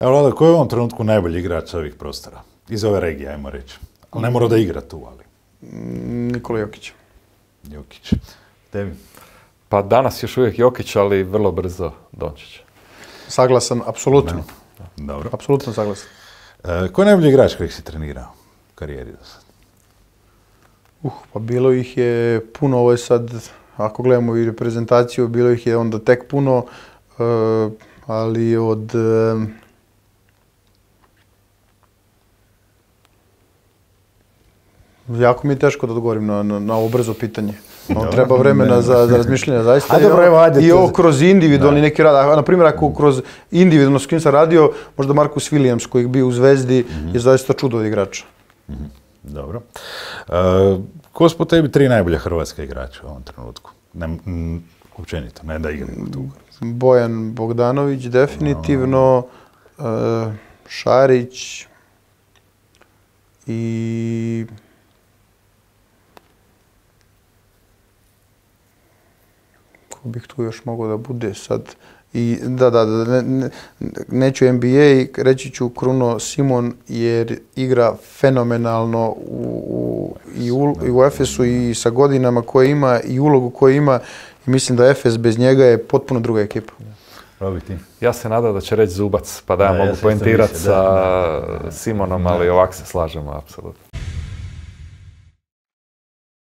Evo, Vlada, koji je u ovom trenutku najbolji igrač ovih prostora? Iz ove regije, ajmo reći. Ali ne mora da igra tu, ali... Nikola Jokić. Jokić. Tebi? Pa danas još uvijek Jokić, ali vrlo brzo Dončić. Saglasan, apsolutno. Dobro. Apsolutno saglasan. Ko je najbolji igrač kojeg si trenirao u karijeri do sad? Pa bilo ih je puno, ovo je sad, ako gledamo i reprezentaciju, bilo ih je onda tek puno, ali od... Jako mi je teško da odgovorim na ovo brzo pitanje. Treba vremena za razmišljanje, zaista. I ovo kroz individualni neki rad. Na primjer, ako kroz individualno s kim sam radio, možda Marcus Williams koji je bio u Zvezdi je zaista čudo od igrača. Dobro. Ko su po tebi 3 najbolja hrvatska igrača u ovom trenutku? Općenito, ne da igramo tu. Bojan Bogdanović, definitivno. Šarić i... Ko bih tu još mogao da bude sad? I neću NBA, reći ću Kruno Simon jer igra fenomenalno i u Efesu i sa godinama koje ima i ulogu koju ima i mislim da Efes bez njega je potpuno druga ekipa. Ja se nadam da će reći Zubac, pa da ja mogu poentirati sa Simonom, ali ovako se slažemo, apsolutno.